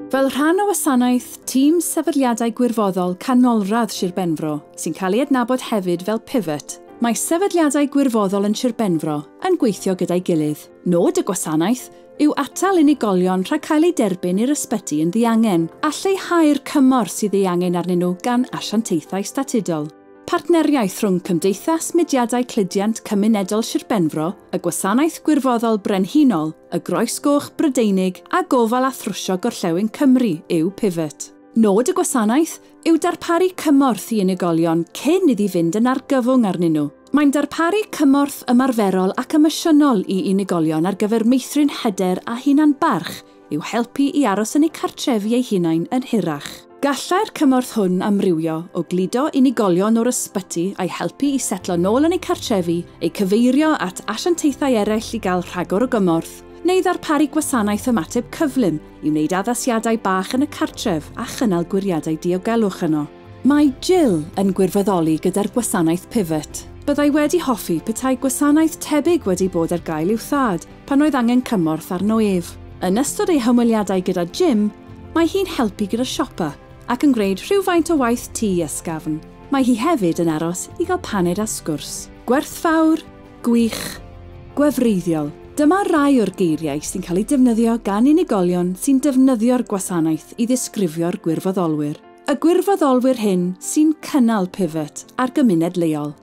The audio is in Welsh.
Fel rhan o wasanaeth Tîm Sefydliadau Gwirfoddol Canolradd Sir Benfro, sy'n cael ei adnabod hefyd fel Pivot, mae sefydliadau gwirfoddol yn Sir Benfro yn gweithio gyda'i gilydd. Nod y gwasanaeth yw atal unigolion rhag cael eu derbyn i'r ysbyty yn ddiangen a lleihau'r cymorth sydd ei angen arnyn nhw gan asiantaethau statudol. Partneriaeth rhwng Cymdeithas Mudiadau Cludiant Cymunedol Sir Benfro, y Gwasanaeth Gwirfoddol Brenhinol, y Groes Goch Brydeinig a Gofal a Thrwsio Gorllewin Cymru yw Pivot. Nod y gwasanaeth yw darparu cymorth i unigolion cyn iddi fynd yn argyfwng arnyn nhw. Mae'n darparu cymorth ymarferol ac emosiynol i unigolion ar gyfer meithrin hyder a hunan barch i'w helpu i aros yn eu cartrefi eu hunain yn hirach. Gallai'r cymorth hwn amrywio o gludo unigolion o'r ysbyty a'i helpu i setlo nôl yn eu cartrefi, eu cyfeirio at asiantaethau eraill i gael rhagor o gymorth, neu ddarparu gwasanaeth ymateb cyflym i wneud addasiadau bach yn y cartref a chynnal gwiriadau diogelwch yno. Mae Jill yn gwirfoddoli gyda'r gwasanaeth Pivot. Byddai wedi hoffi petai gwasanaeth tebyg wedi bod ar gael i'w thad pan oedd angen cymorth arno ef. Yn ystod ei hymweliadau gyda Jim, mae hi'n helpu gyda siopa ac yn gwneud rhywfaint o waith tŷ ysgafn. Mae hi hefyd yn aros i gael paned a sgwrs. Gwerthfawr, gwych, gwefreiddiol. Dyma rai o'r geiriau sy'n cael eu defnyddio gan unigolion sy'n defnyddio'r gwasanaeth i ddisgrifio'r gwirfoddolwyr. Y gwirfoddolwyr hyn sy'n cynnal Pivot a'r gymuned leol.